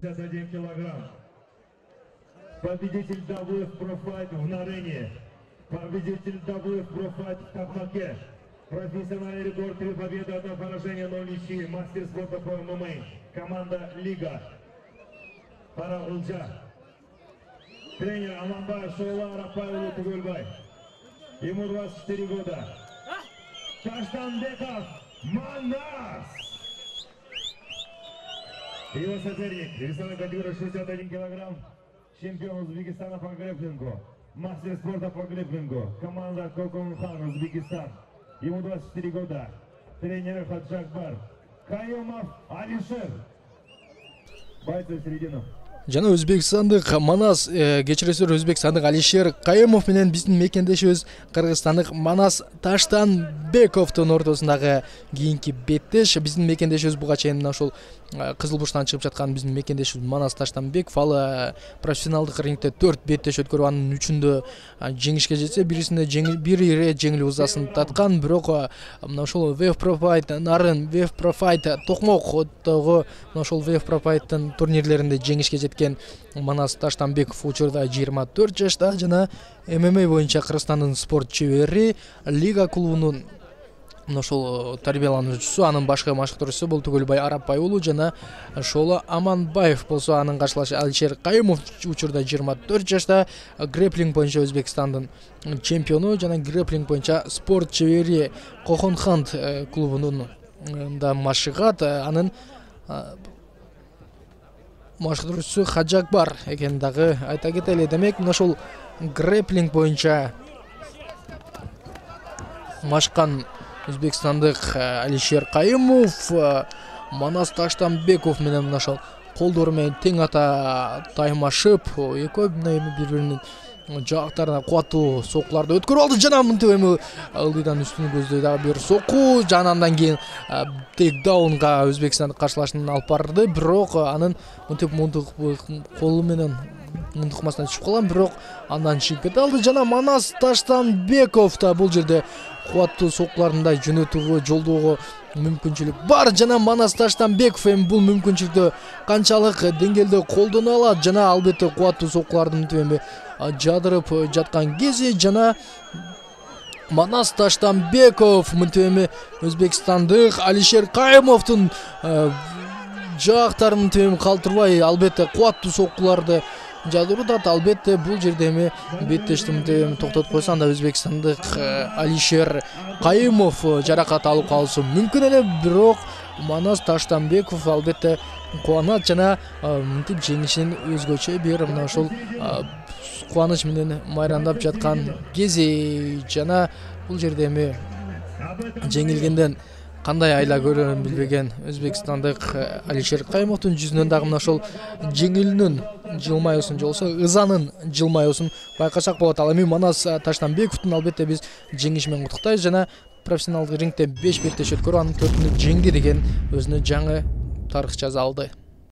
51 килограмм. Победитель WF Pro Fight в Нарене. Победитель WF Pro Fight в Токмаке. Профессиональный рекорд 3 победы, 1 поражение, 0 ничьи. Мастер спорта по ММА. Команда Лига. Пара Улжа. Тренер Аманбаев Шоула Павел Тугульбай. Ему 24 года. Таштанбеков Манас. Его соперник, весовой категории 61 килограмм, чемпион Узбекистана по грэпплингу, мастер спорта по грэпплингу, команда Коконхан, Узбекистан. Ему 24 года. Тренер Хаджакбар. Каюмов Алишер. Бойцы в середину. Жана Өзбекстандык Манас кечиресиз Өзбекстандык Алишер Каюмов менен биздин мекендешибиз Кыргызстандык Манас Таштанбековдун ортосундагы кийинки беттеш. Биздин мекендешибиз буга чейин мына ушул Кызыл Бурчтан чыгып жаткан биздин мекендешибиз Манас Таштанбеков ал профессионалдык рингде 4 беттеш өткөрүп анын 3-үндө жеңишке жетсе, бирисинде бир ирет жеңил узасын таткан, бирок мына ушул WF Pro Fight Нарын, WF Pro Fight Токмоктогу мына ушул WF Pro Fight'тын турнирлеринде жеңишке жеткен Манас Таштанбеков учурда 24 жашта жана ММА боюнча Кыргызстандын спорт чебери, Лига клубунун мына ошол тарбиялануучусу, анын башкы машыктыруучусу бул Тугулбай Арапбай уулу жана Шоула Аманбаев болсо анын каршылашы Алишер Каюмов учурда 24 жашта, грэпплинг боюнча Өзбекстандын чемпиону жана грэпплинг боюнча спорт чебери Коконхан клубунун да машыгат, анын машыктыруучусу Хаджакбар экенин дагы айта кетели. Демек мына ошол грэпплинг боюнча машкан Өзбекстандык Алишер Каюмов Манас Таштанбеков менен мына ошол колдору менен тең ата таймашып, экөө бири-биринин жаактарына кубаттуу сокуларды өткөрүп алды жана мынтип эми ылдыйдан үстүн көздөй дагы бир соку жана андан кийин тейкдаунга Өзбекстандык каршылашын алып барды, бирок анын мынтип мундук колу менен мундукмасынан түшүп калган, бирок андан чыгып кете алды жана Манас Таштанбеков да бул жерде кубаттуу сокуларындай жөнөтүүгө жолдоого мүмкүнчүлүк бар жана Манас Таштанбеков эми бул мүмкүнчүлүктү канчалык деңгээлде колдоно алат жана албетте кубаттуу сокулардын эми жадырып жаткан кези жана Манас Таштанбеков мынтип эми Өзбекстандык Алишер Каюмовдун жаактарын эми калтырбай албетте кубаттуу сокуларды жадыруудат. Албетте бул жерде эми беттештимди токтотуп койсо анда Өзбекстандык Алишер Каюмов жаракат алып калышы мүмкүн эле, бирок Манас Таштанбеков албетте кубанат жана мынтип жеңишин өзгөчө бир мына ошол кубаныч менен майрандап жаткан кези жана бул жерде эми жеңилгенден кандай айла көрөрүн билбеген Өзбекстандык Алишер Каюмовдун жүзүнөн дагы мына ошол жеңилүүнүн жылмаюусун же болбосо ызанын жылмаюусун байкасак болот. Ал эми Манас Таштанбековдун албетте биз жеңиши менен куттуктайбыз жана профессионалдык рингде 5 беттеш өткөрүп анын 4-үндө жеңди деген өзүнө жаңы тарых жаза алды.